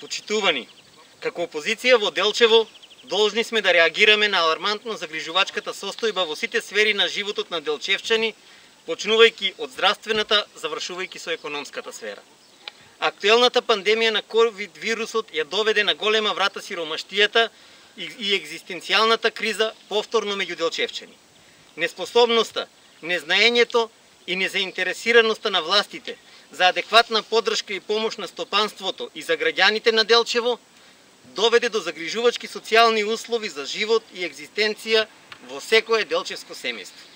Почитувани, како опозиција во Делчево, должни сме да реагираме на алармантно загрижувачката состојба во сите сфери на животот на делчевчани, почнувајќи од здравствената, завршувајќи со економската сфера. Актуелната пандемија на ковид вирусот ја доведе на голема врата сиромаштијата и екзистенцијалната криза повторно меѓу делчевчани. Неспособноста, незнаењето и незаинтересираноста на властите за адекватна поддршка и помош на стопанството и за граѓаните на Делчево доведе до загрижувачки социјални услови за живот и екзистенција во секое делчевско семејство.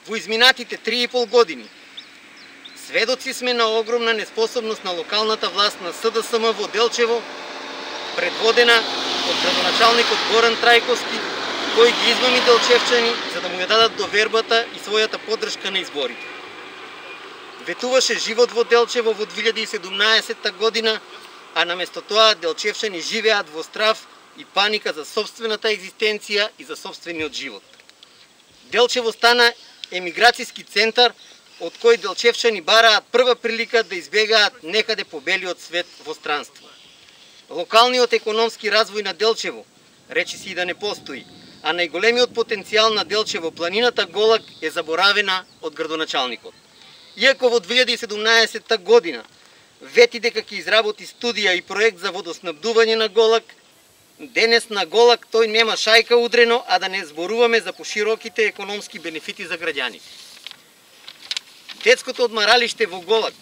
Во изминатите 3,5 години сведоци сме на огромна неспособност на локалната власт на СДСМ во Делчево, предводена од градоначалникот Горан Трајковски, кој ги измами делчевчани за да му ја дадат довербата и својата поддршка на изборите. Ветуваше живот во Делчево во 2017 година, а наместо тоа делчевчани живеат во страв и паника за сопствената екзистенција и за сопствениот живот. Делчево стана емиграцијски центар од кој делчевчани бараат прва прилика да избегаат некаде по белиот свет во странство. Локалниот економски развој на Делчево речи си и да не постои, а најголемиот потенцијал на Делчево, планината Голак, е заборавена од градоначалникот. Иако во 2017 година вети дека ќе изработи студија и проект за водоснабдување на Голак, денес на Голак тој нема шајка удрено, а да не зборуваме за пошироките економски бенефити за граѓаните. Детското одмаралиште во Голак,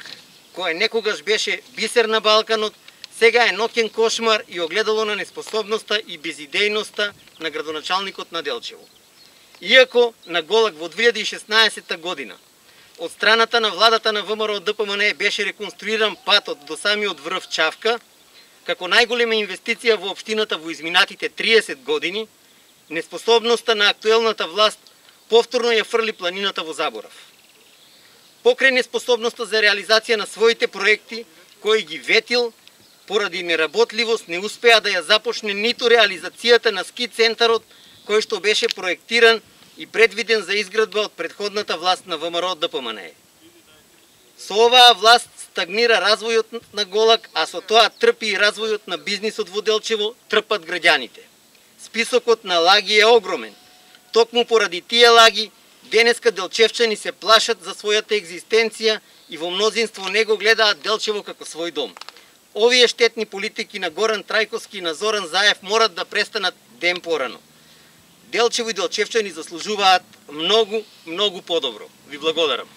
кое некогаш беше бисер на Балканот, сега е ноќен кошмар и огледало на неспособноста и безидејноста на градоначалникот на Делчево. Иако на Голак во 2016 година од страната на владата на ВМРО ДПМН беше реконструиран патот до самиот врв Чавка, како најголема инвестиција во општината во изминатите 30 години, неспособноста на актуелната власт повторно ја фрли планината во заборав. Покрај неспособноста за реализација на своите проекти, кои ги ветил, поради неработливост не успеа да ја започне ниту реализацијата на ски центарот, кој што беше проектиран и предвиден за изградба од претходната власт на ВМРО ДПМН. Со оваа власт стагнира развојот на Голак, а со тоа трпи и развојот на бизнисот во Делчево, трпат граѓаните. Списокот на лаги е огромен. Токму поради тие лаги, денеска делчевчани се плашат за својата екзистенција и во мнозинство не го гледаат Делчево како свој дом. Овие штетни политики на Горан Трајковски и на Зоран Заев морат да престанат ден порано. Делчево и делчевчани заслужуваат многу подобро. Ви благодарам.